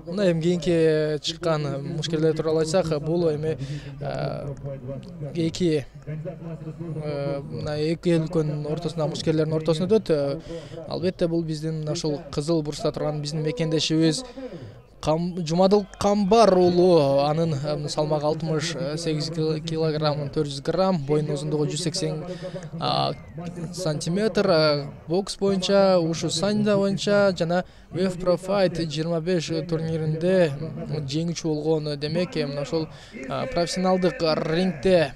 Мына эми кийинки чыккан мушкерлер тууралуу айтсак, бул эми эки өлкөнүн ортосундагы мушкерлердин ортосунда өтөт. Албетте бул биздин ушул Кызыл бурчта турган биздин мекендешибиз Жумадыл Камбар уулу. Анын салмагы 68 килограмм 400 грамм, боюнун узундугу 180 сантиметр. Бокс боюнча, ушу саньда боюнча жана UEFA Pro Fight 25 турниринде жеңүүчү болгон. Демек, мына ошол профессионалдык рингде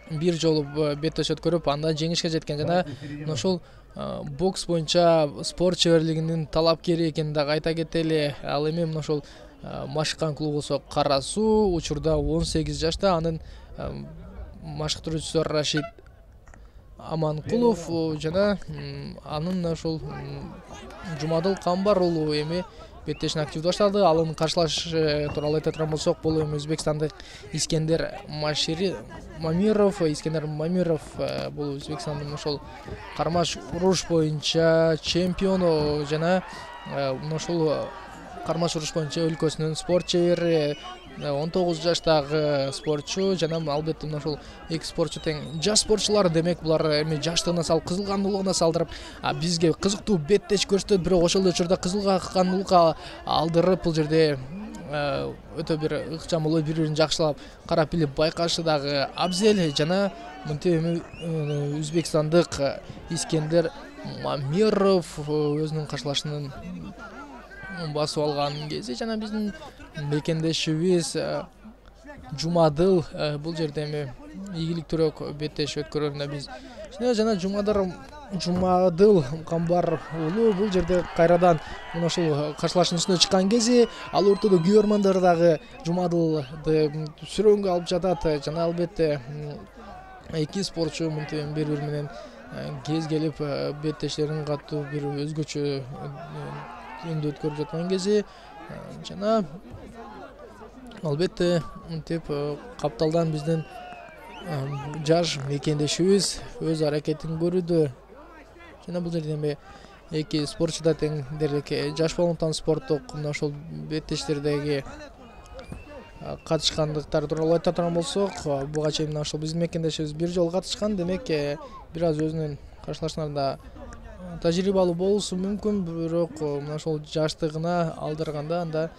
бир жолу беттеш өткөрүп, анда жеңишке жеткен жана ошол бокс боюнча спорт чеберлигинин талапкери экенин дагы айта кетели. Ал эми мына ошол машыккан клубу болсо Кара Суу, учурда 18 жашта. Анын машыктыруучусу Рашид Аманкулов жана анын ошол Жумадыл Камбар уулу эми беттешин активдүү баштады. Алын каршылашы тууралуу айта турган болсок, бул эми өзбекстандык Искендер Мамиров. Искендер Мамиров бул Өзбекстандын ошол кармаш уруш боюнча чемпиону жана ошол кармаш уруш боюнча өлкөсүнүн спорт чебери. 19 жаштагы спортчу жана албетте мына ошол эки спортчу тең жаш спортчулар. Демек, булар эми жаштыгына салып, кызыл кандуулугуна салдырып бизге кызыктуу беттеш көрсөтөт. Бирок ошол эле учурда кызыл кандуулукка алдырып, бул жерде өтө бир ыкчам болуп, бири-бирин жакшылап карап билип байкашы дагы абзел. Жана мынтип эми өзбекстандык Искендер Мамиров өзүнүн каршылашынын басып алган кези жана биздин мекендешибиз Жумадыл бул жерде эми ийгиликтүүрөөк беттеш өткөрүүнө биз жана Жумадыл Камбар уулу бул жерде кайрадан мына ушул каршылашуунун үстүнө чыккан кези ал ортодо күйөрмандар дагы Жумадылды сүрөөнгө алып жатат жана албетте эки спортчу мынтип бири-бири менен кез келип беттештерин катуу бир өзгөчө үндү өткөрүп жаткан кези жана албетте мынтип капталдан биздин жаш мекендешибиз өз аракетин көрүүдө жана бул жерде эми эки спортчу да тең дерлик жаш балуантан спорттук мына ошол беттештердеги катышкандыктары тууралуу айта турган болсок, буга чейин мына ошол биздин мекендешибиз бир жолу катышкан. Демек, бир аз өзүнүн каршылашууларында тажрыйбалуу болушу мүмкүн, бирок мына ошол жаштыгына алдырганда анда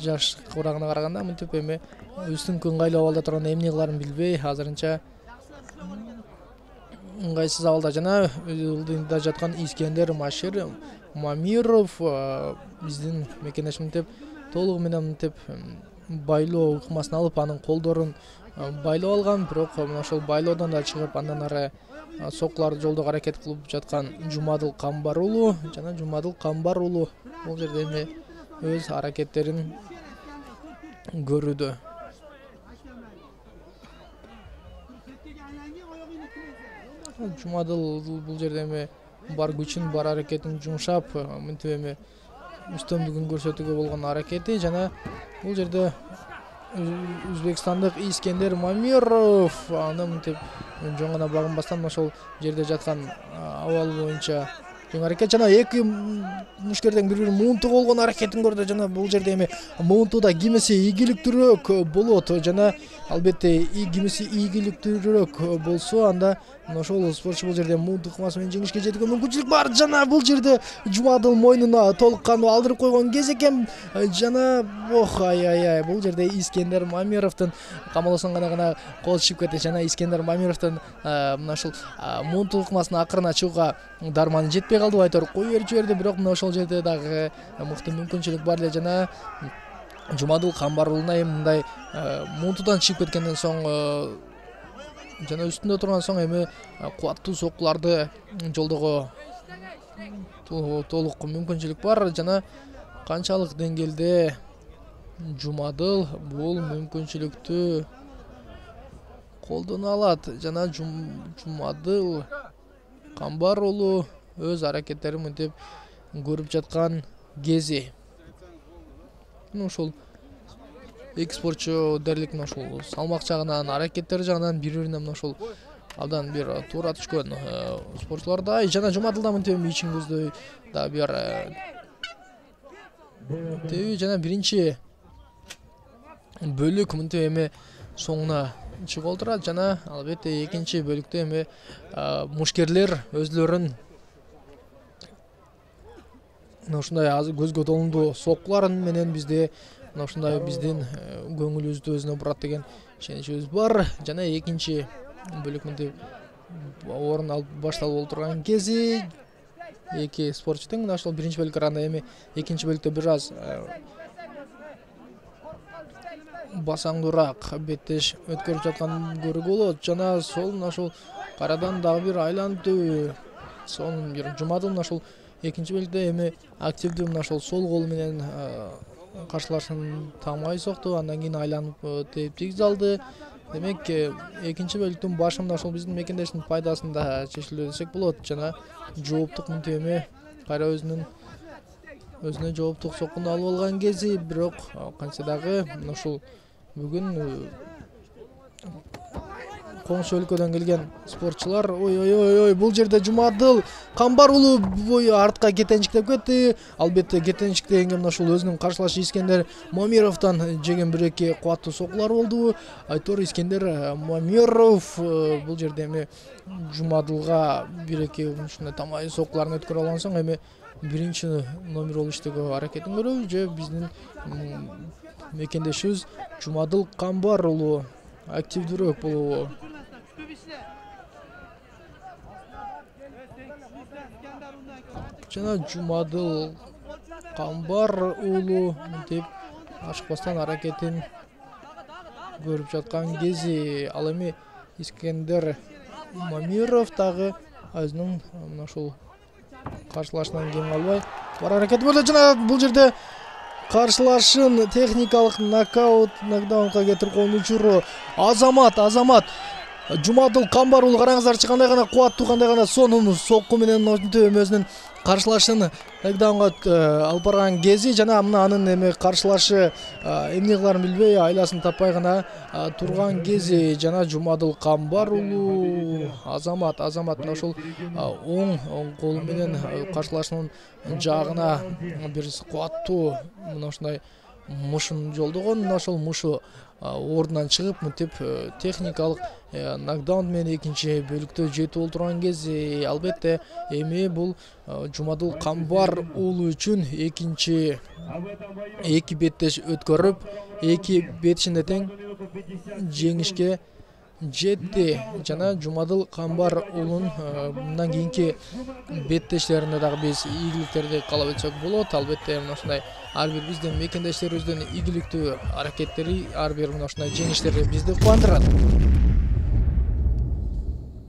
жаш курагына караганда мынтип эми үстүңкү ыңгайлуу абалда турганда эмне кыларын билбей азырынча ыңгайсыз абалда жана алдында жаткан Искендер Мамиров биздин мекендеш мынтип толугу менен мынтип байлоо ыкмасын алып, анын колдорун байлап алган. Бирок мына ошол байлоодон да чыгып, андан ары соккуларды жолдоого аракет кылып жаткан Жумадыл Камбар уулу жана Жумадыл Камбар уулу бул жерде эми өз аракеттерин көрүүдө. Жумадыл бул жерде эми бар күчүн, бар аракетин жумшап, мынтип эми үстөмдүгүн көрсөтүүгө болгон аракети жана бул жерде өзбекстандык Искендер Мамиров аны мынтип жөн гана багынбастан ошол жерде жаткан абал боюнча жөн аракет жана эки мушкерден бири-бирин муунтуп болгон аракетин көрдү жана бул жерде эми муунтууда кимиси ийгиликтүүрөөк болот жана албетте кимиси ийгиликтүүрөөк болсо анда ошол спортчу бул жерде муунтук ыкмасы менен жеңишке жетүүгө мүмкүнчүлүк бар. Жана бул жерде Жумадыл мойнуна толук кандуу алдырып койгон кез экен жана бул жерде Искендер Мамировдун камалоосун гана кол чыгып кетти жана Искендер Мамировдун мына ушул муунтук ыкмасынын акырына чыгууга дарманы жетпей калды, айтор кое берип жиберди. Бирок мына ошол жерде дагы мыкты мүмкүнчүлүк бар эле жана Жумадыл Камбар уулуна эми мындай муунтуудан чыгып кеткенден соң жана үстүндө турган соң эми кубаттуу соккуларды жолдоого толук мүмкүнчүлүк бар жана канчалык деңгээлде Жумадыл бул мүмкүнчүлүктү колдоно алат жана Жумадыл Камбар уулу өз аракеттерин мынтип көрүп жаткан кези ушул эки спортчу дерлик ушул салмак жагынан, аракеттери жагынан бири-бирине ушул абдан бир туура түшкөн спортчулардай жана Жумадыл да мынтип ичин көздөй да бир жана биринчи бөлүк мынтип эми соңуна чыгып отурат жана албетте экинчи бөлүктө эми мушкерлер өзлөрүн ушундай көзгө толундуу соккулар менен бизде ушундай биздин көңүлүбүздү өзүнө бурат деген ишеничибиз бар жана экинчи бөлүк мынтип орун алып башталып отурган кези эки спортчу тең мына ошол биринчи бөлүккө караганда эми экинчи бөлүктө бир аз басаңдуураак беттеш өткөрүп жатканын көрүүгө болот жана сол мына ушул кайрадан дагы бир айлантуу сонун бир Жумадыл мына ушул экинчи бөлүктө эми активдүү мына ошол сол колу менен каршылашын тамай сокту андан кийин айланып тээп тийгизе алды. Демек экинчи бөлүктүн башы мына ошол биздин мекендештин пайдасында чечилди десек болот жана жооптук мынтип эми кайра өзүнө жооптук соккуну алып алган кези бирок кантсе дагы мына ушул бүгүн коңшу өлкөдөн келген спортчулар ой бул жерде Жумадыл Камбар уулу бою артка кетенчиктеп кетти. Албетте кетенчиктегенге мына ушул өзүнүн каршылашы Искендер Мамировдон жеген бир эки кубаттуу соккулар болду. Айтор Искендер Мамиров бул жерде эми Жумадылга бир эки ушундай тамай соккуларын өткөрө алган соң эми биринчи номер болуп иштөөгө аракетин көрөбү же биздин мекендешибиз Жумадыл Камбар уулу активдүүрөөк болобу? Жана Жумадыл Камбар уулу мынтип ашыкпастан аракетин көрүп жаткан кези ал эми Искендер Мамиров дагы өзүнүн мына ушул каршылашынан кем албай бар аракети болду жана бул жерде каршылашын техникалык нокдаунга кетирип койгон учуру Азамат Жумадыл Камбар уулу караңыздарчы кандай гана кубаттуу кандай гана сонун сокку менен мынтип өзүнүн каршылашын нокдаунга алып барган кези жана мына анын эми каршылашы эмне кыларын билбей айласын таппай гана турган кези жана Жумадыл Камбар уулу Азамат мына ушул оң колу менен каршылашынын жаагына бир кубаттуу мына ушундай мушун жолдогон мына ошол мушу ордунан чыгып мынтип техникалык нокдаун менен экинчи бөлүктө жетип олтурган кези албетте эми бул Жумадыл Камбар уулу үчүн экинчи эки беттеш өткөрүп эки бетишинде тең жеңишке жетти жана Жумадыл Камбар уулунун мындан кийинки беттештеринде дагы биз ийгиликтерди каалап өтсөк болот. Албетте мына ушундай ар бир биздин мекендештерибиздин ийгиликтүү аракеттери ар бир мына ушундай жеңиштери бизди кубандырат.